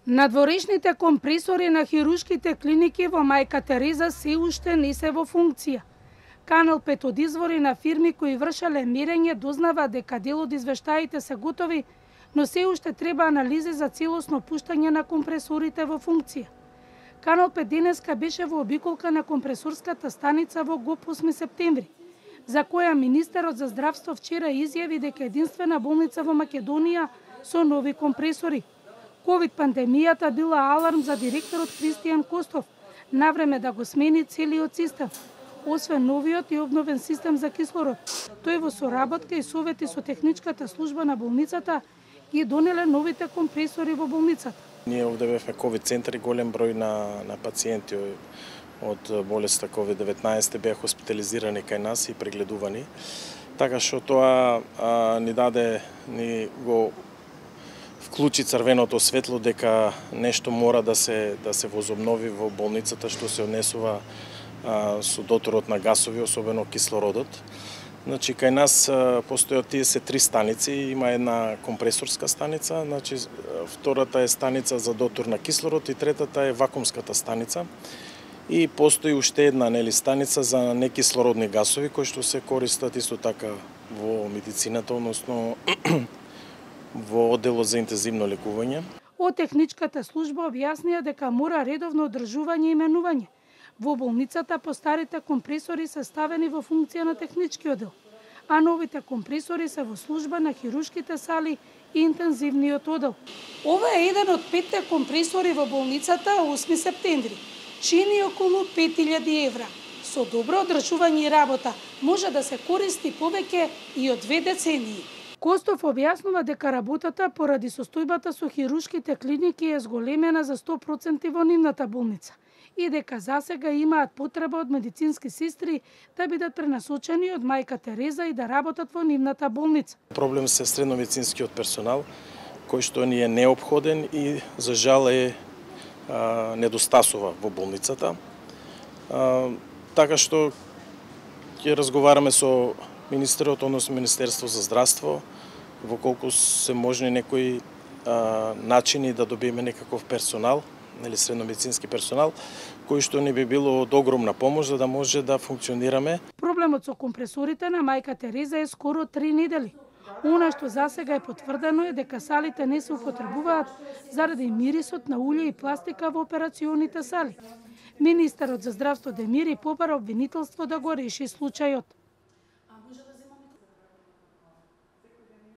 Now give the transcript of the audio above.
Надворешните компресори на хируршките клиники во Мајка Тереза се уште не се во функција. Канал 5 од извори на фирми кои вршеле мерење дознава дека дел од извештаите се готови, но се уште треба анализи за целосно пуштање на компресорите во функција. Канал 5 денеска беше во обиколка на компресорската станица во ГОП 8 септември, за која министерот за здравство вчера изјави дека единствена болница во Македонија со нови компресори. Ковид пандемијата била аларм за директорот Кристијан Костов, навреме да го смени целиот систем. Освен новиот и обновен систем за кислород, тој во соработка и совети со техничката служба на болницата ги донеле новите компресори во болницата. Ние овде бевме ковид центар и голем број на пациенти од болеста COVID-19 беа хоспитализирани кај нас и прегледувани. Така што тоа ни го вклучи црвеното светло дека нешто мора да се возобнови во болницата што се однесува со доторот на гасови, особено кислородот. Значи, кај нас постојат тие се 3 станици, има една компресорска станица, значи втората е станица за дотор на кислород и третата е вакуумската станица. И постои уште една станица за некислородни гасови кои што се користат исто така во медицината, односно во одделот за интензивно лекување. Од техничката служба објаснија дека мора редовно одржување и менување. Во болницата постарите компресори се ставени во функција на технички оддел, а новите компресори се во служба на хируршките сали и интензивниот оддел. Ова е еден од 5 компресори во болницата 8 септември. Чини околу 5000 евра. Со добро одржување и работа може да се користи повеќе и од 2 децении. Костов објаснува дека работата поради состојбата со хируршките клиники е зголемена за 100% во нивната болница и дека засега имаат потреба од медицински сестри да бидат пренасочени од Мајка Тереза и да работат во нивната болница. Проблем се средноведицинскиот персонал, кој што ни е неопходен и за жал недостасува во болницата. Така што ќе разговараме со министерот, односно Министерство за здравство, во колку се можни некои начини да добиеме некаков персонал, средноведицински персонал, кој што ни би било од огромна помош за да може да функционираме. Проблемот со компресорите на Мајка Тереза е скоро 3 недели. Она што засега е потврдено е дека салите не се употребуваат заради мирисот на улје и пластика во операционите сали. Министерот за здравство Демири побара обвинителство да го реши случајот.